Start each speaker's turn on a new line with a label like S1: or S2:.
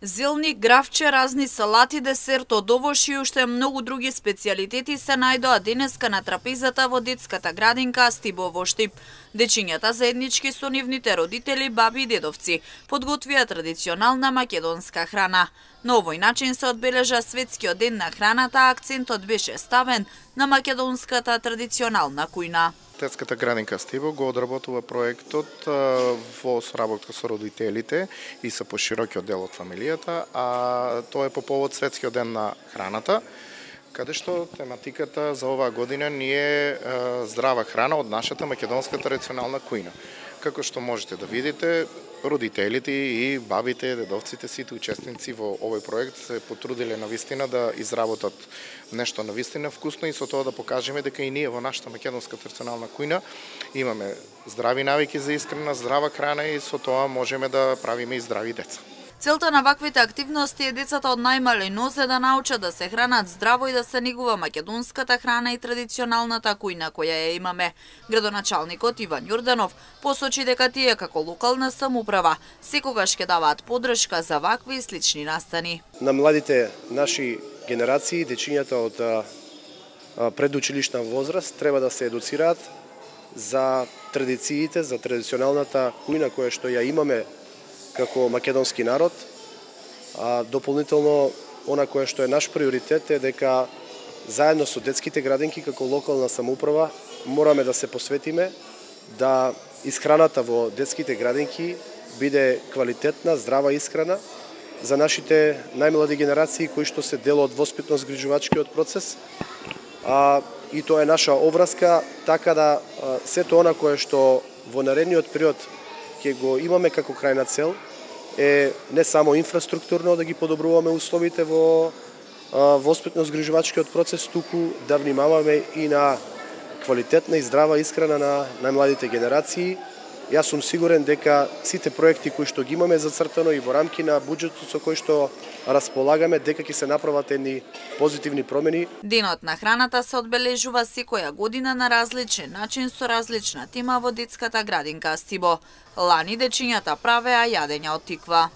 S1: Зелни, гравче, разни салати, десерт од овош и уште многу други специјалитети се најдоа денеска на трапезата во детската градинка Астибо во Штип. Дечињата заеднички со нивните родители, баби и дедовци подготвија традиционална македонска храна. На овој начин се одбележа Светскиот ден на храната, а акцентот беше ставен на македонската традиционална кујна.
S2: Детската градинка Астибо го одработува проектот во соработка со родителите и со поширокиот дел од фамилијата, а тоа е по повод Светскиот ден на храната, каде што тематиката за оваа година ни е здрава храна од нашата македонска традиционална кујна. Како што можете да видите, родителите и бабите, дедовците, сите учесници во овој проект се потрудиле навистина да изработат нешто навистина вкусно и со тоа да покажеме дека и ние во нашата македонска традиционална кујна имаме здрави навики за исхрана, здрава храна и со тоа можеме да правиме и здрави деца.
S1: Целта на ваквите активности е децата од најмали нозе да научат да се хранат здраво и да се негува македонската храна и традиционалната кујна која ја имаме. Градоначалникот Иван Јорданов посочи дека тие како локална самоуправа секогаш ќе даваат поддршка за вакви и слични настани.
S3: На младите наши генерации, дечињата од предучилишна возраст треба да се едуцираат за традициите, за традиционалната кујна која што ја имаме како македонски народ. Дополнително, она кое што е наш приоритет е дека заедно со детските градинки како локална самоуправа мораме да се посветиме да исхраната во детските градинки биде квалитетна, здрава исхрана за нашите најмлади генерации кои што се дел од воспитно-згрижувачкиот процес. И тоа е наша обврска, така да сето она кое што во наредниот период ќе го имаме како крајна цел е не само инфраструктурно да ги подобруваме условите во воспитно-згрижувачкиот процес, туку да внимаваме и на квалитетна и здрава исхрана на најмладите генерации. Јас сум сигурен дека сите проекти кои што ги имаме зацртано и во рамки на буџетот со кој што располагаме, дека ќе се направат едни позитивни промени.
S1: Денот на храната се одбележува секоја година на различен начин со различна тема во детската градинка Астибо. Лани дечињата правеа јадења од тиква.